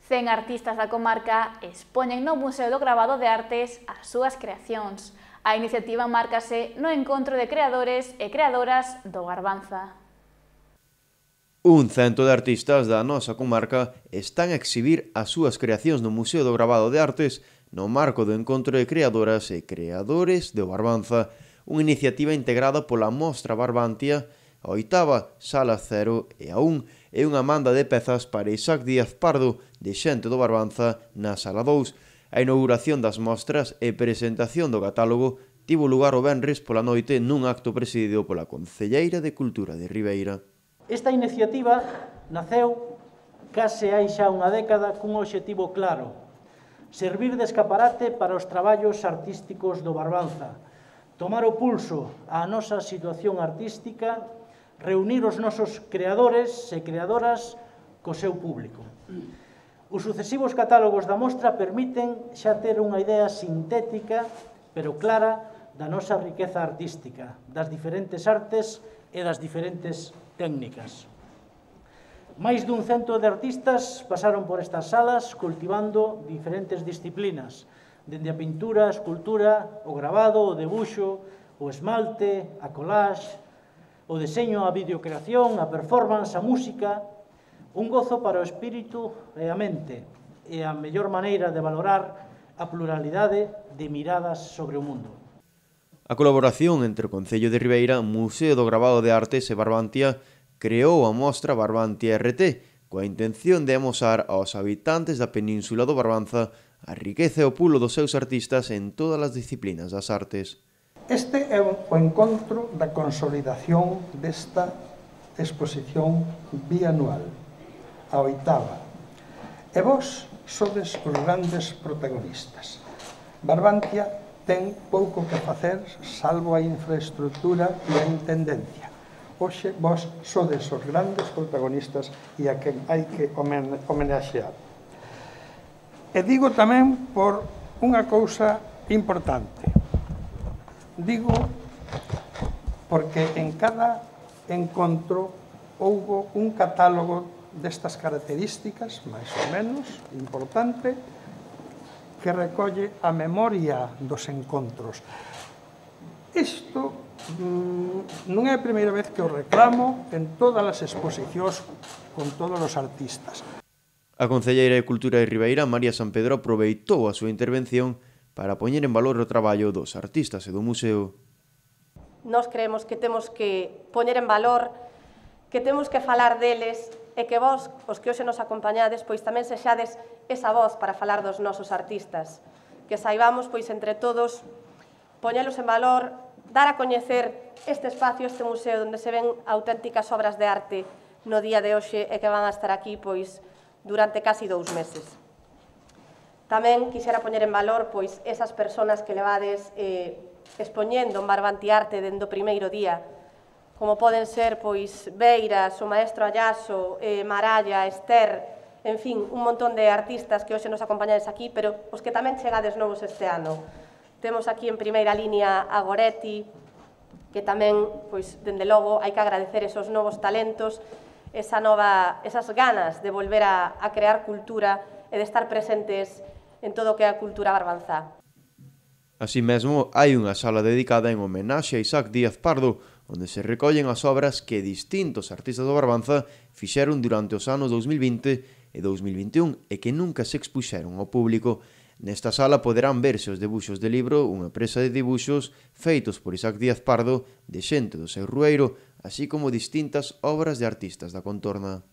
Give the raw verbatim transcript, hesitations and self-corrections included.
Cen artistas da comarca expoñen no Museo do Gravado de Artes as súas creacións. A iniciativa márcase no encontro de creadores e creadoras do Barbanza. Un cento de artistas da nosa comarca están a exhibir as súas creacións no Museo do Gravado de Artes no marco do encontro de creadoras e creadores do Barbanza, unha iniciativa integrada pola Mostra Barbantia, a oitava Sala Cero e aún é unha manda de pezas para Isaac Díaz Pardo de Xente do Barbanza na Sala dous. A inauguración das mostras e presentación do catálogo tivo lugar o venres pola noite nun acto presidido pola Concelleira de Cultura de Ribeira. Esta iniciativa naceu case hai xa unha década cun obxectivo claro: servir de escaparate para os traballos artísticos do Barbanza, tomar o pulso á nosa situación artística, reunir os nosos creadores e creadoras co seu público. Os sucesivos catálogos da mostra permiten xa ter unha idea sintética, pero clara, da nosa riqueza artística, das diferentes artes e das diferentes técnicas. Máis dun cento de artistas pasaron por estas salas cultivando diferentes disciplinas, dende a pintura, a escultura, o gravado, o debuxo, o esmalte, a collage, o deseño, a videocreación, a performance, a música, un gozo para o espírito e a mente, e a mellor maneira de valorar a pluralidade de miradas sobre o mundo. A colaboración entre o Concello de Ribeira, Museo do Gravado de Artes e Barbantia creou a mostra Barbantia R T, coa intención de amosar aos habitantes da península do Barbanza a riqueza e o pulo dos seus artistas en todas as disciplinas das artes. Este é o encontro da consolidación desta exposición bianual, a oitava. E vos sodes os grandes protagonistas. Barbantia ten pouco que facer, salvo a infraestructura e a intendencia. Hoxe vos sodes os grandes protagonistas e a quen hai que homenaxear. E digo tamén por unha cousa importante. Digo porque en cada encontro houbo un catálogo destas características, máis ou menos, importante, que recolle a memoria dos encontros. Isto mmm, non é a primeira vez que o reclamo en todas as exposicións con todos os artistas. A Concelleira de Cultura de Ribeira, María Sampedro, aproveitou a súa intervención para poñer en valor o traballo dos artistas e do museo. Nós creemos que temos que poñer en valor, que temos que falar deles e que vós, os que hoxe nos acompañades, pois tamén sexades esa voz para falar dos nosos artistas. Que saibamos, pois, entre todos, poñelos en valor, dar a coñecer este espacio, este museo, onde se ven auténticas obras de arte no día de hoxe e que van a estar aquí, pois, durante casi dous meses. Tamén quixera poñer en valor, pois, esas persoas que levades eh, expoñendo en Barbantiarte dende o primeiro día, como poden ser, pois, Beiras, o maestro Ayaso, eh, Maralla, Ester, en fin, un montón de artistas que hoxe nos acompañades aquí, pero os que tamén chegades novos este ano. Temos aquí en primeira línea a Goretti, que tamén, pois, dende logo, hai que agradecer esos novos talentos, esa nova, esas ganas de volver a, a crear cultura e de estar presentes en todo o que é a cultura barbanzá. Así mesmo, hai unha sala dedicada en homenaxe a Isaac Díaz Pardo, onde se recollen as obras que distintos artistas do Barbanza fixeron durante os anos dous mil vinte e dous mil vinte e un e que nunca se expuxeron ao público. Nesta sala poderán verse os debuxos de libro, unha presa de dibuxos feitos por Isaac Díaz Pardo de Xente do seu Rueiro, así como distintas obras de artistas da contorna.